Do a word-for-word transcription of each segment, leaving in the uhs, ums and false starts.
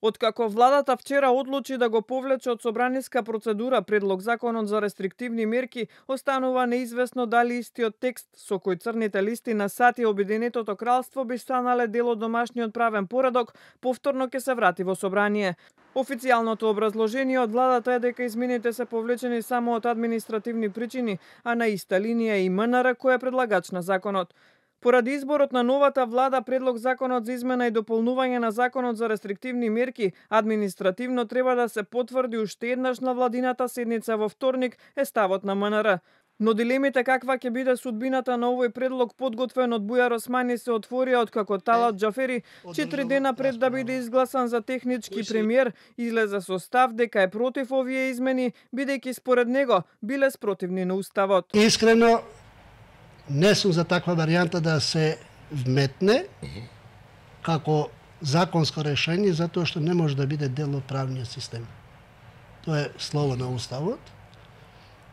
Откако владата вчера одлучи да го повлече од собраниска процедура предлог законот за рестриктивни мерки, останува неизвестно дали истиот текст со кој црните листи на САД и Обединетото кралство би станале дел од домашниот правен поредок, повторно ќе се врати во собрание. Официјалното образложение од владата е дека измените се повлечени само од административни причини, а на иста линија и МНР кој е предлагач на законот. Поради изборот на новата влада, предлог законот за измена и дополнување на законот за рестриктивни мерки административно треба да се потврди уште еднаш на владината седница во вторник, е ставот на МНР. Но дилемите каква ќе биде судбината на овој предлог подготвен од Бујар Османи се отворија откако Талат Џафери четири дена пред да биде изгласан за технички премиер излезе со став дека е против овие измени, бидејќи според него биле спротивни на уставот. Искрено не сум за таква варијанта да се вметне како законско решение, затоа што не може да биде дел од правниот систем. Тоа е слово на уставот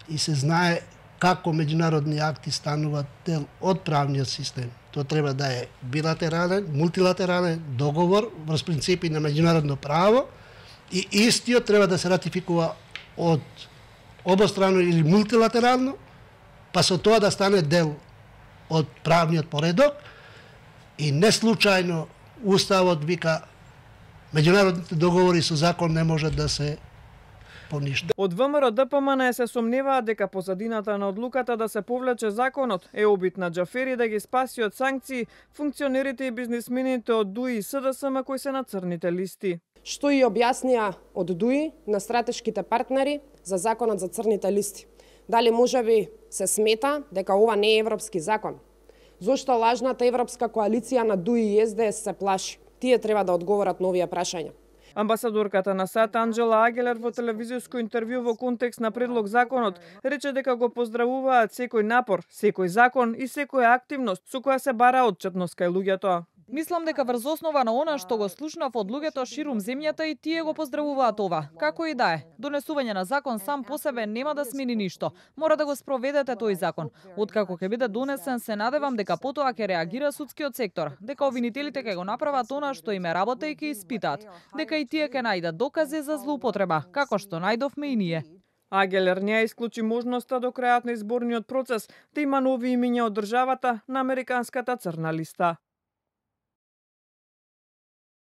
и се знае како меѓународни акти стануваат дел од правниот систем. Тоа треба да е билатерален, мултилатерален договор врз принципи на меѓународно право и истиот треба да се ратификува од обострано или мултилатерално, па со тоа да стане дел од правниот поредок и не случајно уставот вика меѓународните договори со закон не можат да се поништат. Од ВМРО Д П М Н се сомневаат дека позадината на одлуката да се повлече законот е обид на Џафери да ги спаси од санкции функционерите и бизнисмените од ДУИ и С Д С М кои се на црните листи. Што и објаснија од ДУИ на стратешките партнери за законот за црните листи. Дали можеби се смета дека ова не е европски закон? Зошто лажната европска коалиција на ДУИ и С Д С се плаши? Тие треба да одговорат на овие прашања. Амбасадорката на САД Анџела Агелер во телевизиско интервју во контекст на предлог законот рече дека го поздравуваат секој напор, секој закон и секоја активност со која се бара отчетност кај луѓето. Мислам дека врз основа на она што го слушнав од луѓето ширум земјата и тие го поздравуваат ова. Како и да е, донесување на закон сам по себе нема да смени ништо. Мора да го спроведете тој закон. Откако ќе биде донесен, се надевам дека потоа ќе реагира судскиот сектор, дека обвинителите ќе го направат она што им е работа и ќе испитаат, дека и тие ќе најдат докази за злоупотреба, како што најдовме и ние. Агелер не исклучи можноста до крајот на изборниот процес да има нови имиња од државата на американската црна листа.